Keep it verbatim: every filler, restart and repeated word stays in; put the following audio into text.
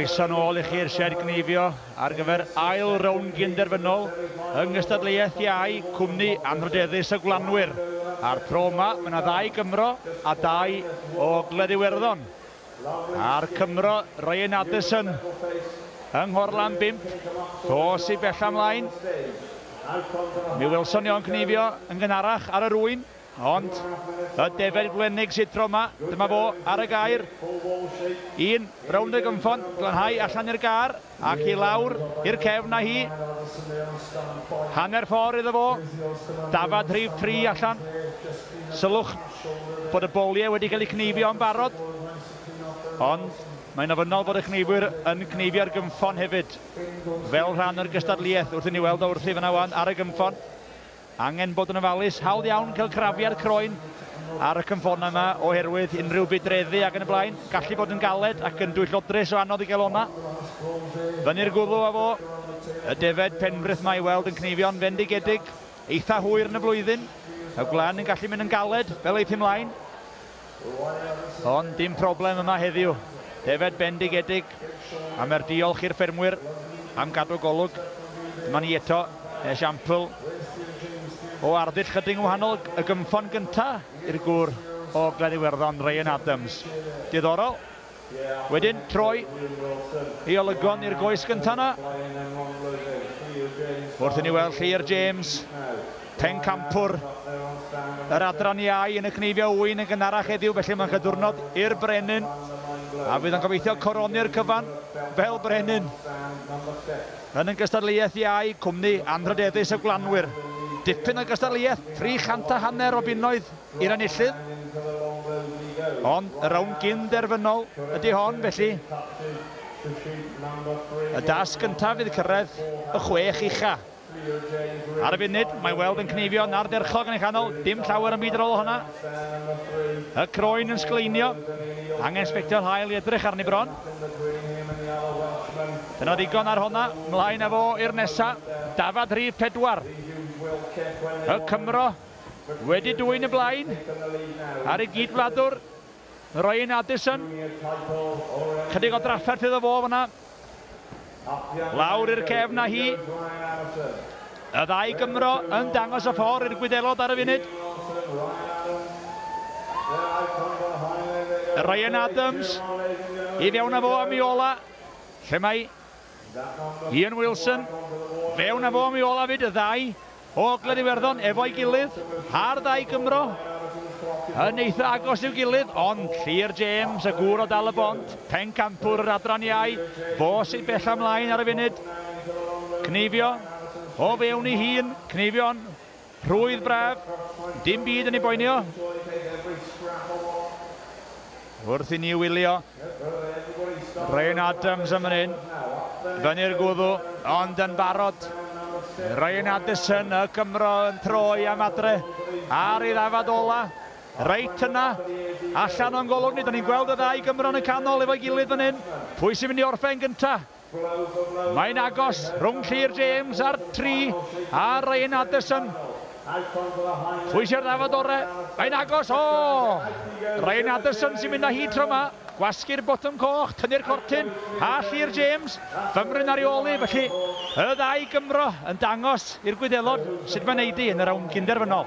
Croeso nôl i chi'r sied gneifio ar gyfer ail rownd gynderfynol yng ngystadleuaeth iau cwmni anrhydeddus y Gwlanwyr. A'r tro yma, mae yna ddau Gymro a dau o Ogledd Iwerddon. A'r Cymro, Ryan Addison, yng Nghorlan bump, dos i bella ymlaen. Mi welson ni o'n cneifio yn gynharach ar yr ŵyn, ond y defed gwlenig sydd tro yma, dyma fo ar y gair. Un rownd y gymffon, glanhau allan i'r gar ac i lawr i'r cefn â hi. Hanner ffordd iddo fo, dafad rhif tri allan. Sylwch bod y boliau wedi cael eu cneifio yn barod, ond mae'n ofynnol bod y cneifwyr yn cneifio'r gymffon hefyd, fel rhan o'r gystadleuaeth wrth i ni weld o wrthi fyna wan ar y gymffon. Angen bod yn ofalus, hawdd iawn cael crafiad croen ar y cymffonau yma oherwydd unrhyw budreddu ac yn y blaen. Gallu bod yn galed ac yn dwyllodrus o anodd i gael o'na. Fyny'r gwddw â fo, y defed Penfrith mae i weld yn cneifio'n fendigedig, eitha hwyr yn y flwyddyn. Y gwlan yn gallu mynd yn galed fel eith ymlaen. Ond dim problem yma heddiw. Defed bendigedig, a mae'r diolch i'r ffermwyr am gadw golwg. Dyma ni eto, esiampl o arddull chydig yn wahanol, y gymffon gynta i'r gŵr o Ogledd Iwerddon, Ryan Adams. Diddorol. Wedyn troi i olygon i'r goes gynta yna. Wrth i ni weld Llyr James, pencampwr yr adran iau yn y cneifio ŵyn yn gynharach heddiw, felly mae'n chydiwrnod i'r brenin, a fydd yn gobeithio coroni'r cyfan fel brenin. Yn y gystadleuaeth iau, cwmni anrhydeddus y Gwlanwyr. Dipyn o gystadleuaeth, tri chant a hanner o bunnoedd i'r enillydd. Ond y rownd gyn-derfynol ydy hon, felly y dasg gyntaf fydd cyrraedd y chwech ucha. Ar y funud, mae weld yn cneifio'n ardderchog yn ei chanol, dim llawer yn byd ar ôl hwnna. Y croen yn sgleinio, angen sbectol haul i edrych arni bron. Dyna ddigon ar honna, mlaen â fo i'r nesa, dafad rhif pedwar. Y Cymro wedi dwyn y blaen ar ei gydwladwr, Ryan Addison. Chydig o drafferth iddo fo fyna. Lawr i'r cefn â hi. Y ddau Gymro yn dangos y ffordd i'r Gwyddelod ar y funud. Ryan Adams i fewn â fo am ei ola. Lle mae Ian Wilson fewn â fo am ei ola fyd, y ddau o Ogledd Iwerddon efo'i gilydd, a'r ddau Gymro yn eitha agos i'w gilydd, ond Llyr James, y gŵr o Dal y Bont, pencampwr yr adran iau, fo sy'n bella ymlaen ar y funud. Cneifio o fewn ei hun, cneifio'n rhwydd braf, dim byd yn ei boenio. Wrth i ni wylio Ryan Adams am hyn, fyny'r gwddw, ond yn barod. Ryan Addison, y Cymro, yn troi am adre ar ei ddafad ola. Reit yna, allan o'n golwg ni, da ni'n gweld y ddau Gymro yn y canol efo'i gilydd fan hyn. Pwy sy'n mynd i orffen gynta? Mae'n agos rhwng Llyr James a'r tri a Ryan Addison. Pwy sy'n ddafad ore? Mae'n agos, o! Ryan Addison sy'n mynd â hi tro yma. Gwasgu'r botwm coch, tynnu'r cortyn, a Llyr James, fymryn ar ei ôl hi, felly y ddau Gymro yn dangos i'r Gwyddelod sut mae'n neud hi yn y rownd gynderfynol.